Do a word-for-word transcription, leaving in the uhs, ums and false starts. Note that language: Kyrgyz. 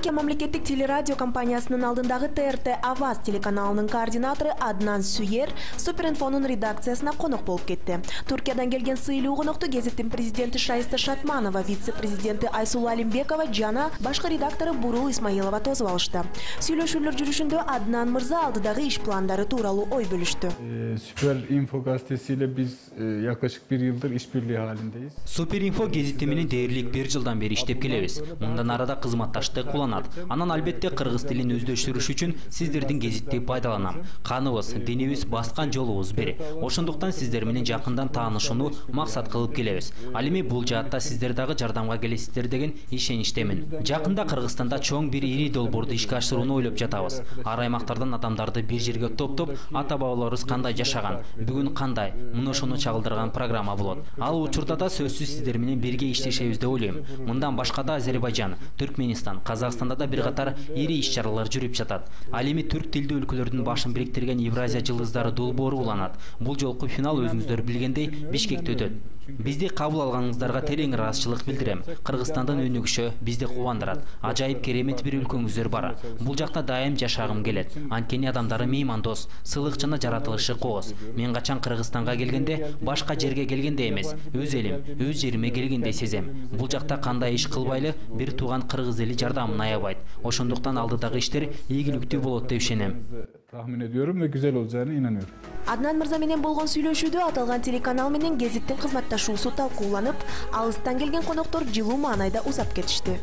Түркия мамлекеттик телерадио компаниясынын алдындагы Т Р Т Аваз телеканалынын координатору Аднан Сүйер Суперинфонун редакциясына конок болуп кетти. Туркиядан келген сыйлуу конокту гезиттин президенти Шайста Шатманова, вице-президенти Айсулу Алимбекова жана башкы редактору Бурул Исмаилова тосуп алышты. Сүйлөшүүлөр жүрүшүндө Аднан мырза алдыдагы иш пландары тууралуу ой бөлүштү. Суперинфо газетесиyle биз yaklaşık bir yıldır işbirliği halindeyiz. Суперинфо гезити менен дээрлик бир жылдан бери иштеп келебиз. Мындан арада кызматташтык уланат. Анан албетте кыргыз тилин өздөштүрүш үчүн сиздердин гезитти пайдаланам. Каныбыз, динибиз баскан жолубуз бир. Ошондуктан сиздер менен жакындан таанышууну максат кылып келебиз. Ал эми бул жаатта сиздер дагы жардамга келесиздер деген ишеничтемин. Жакында Кыргызстанда чоң бир ири долбоорду ишке ашырууну ойлоп жатабыз. Ар аймактардан адамдарды бир жерге топтоп, ата бабаларыбыз кандай жашаган, бүгүн кандай, мына ошону чагылдырган программа болот. Ал учурда да сөзсүз сиздер менен бирге иштешебиз деп ойлойм. Мындан башка да Азербайжан, Түркменистан, Казакстанда да бир катар ири иш-чаралар жүрүп жатат. Ал эми түрк тилдүү өлкөлөрдүн башын бириктирген Евразия жылдыздары долбоору уланат. Бул жолку финал өзүңүздөр билгендей Бишкекте өтөт. Бизди кабыл алганыңыздарга терең ыраазычылык билдирем. Кыргызстандын өнүгүшү бизди кубандырат. Ажайып керемет бир өлкөңүздөр бар. Бул жакта дайым жашагым келет. Анткени адамдары меймандос, сыйлык жана жаратылышы кооз. Мен качан Кыргызстанга келгенде, башка жерге келгенде эмес, өз элим, өз жериме келгендей сезем. Бул жакта кандай иш кылбайлы бир тууган кыргыз эли жардамын аябайт. Ошондуктан алдыдагы иштер ийгиликтүү болот деп ишенем. Tahmin ediyorum ve güzel olacağına inanıyorum. Adnan Мырза менен болгон сүйлөшүүдө аталган телеканал менен гезиттин кызматташуусу талкууланып, алыстан келген коноктор жылуу маанайда узап кетишти.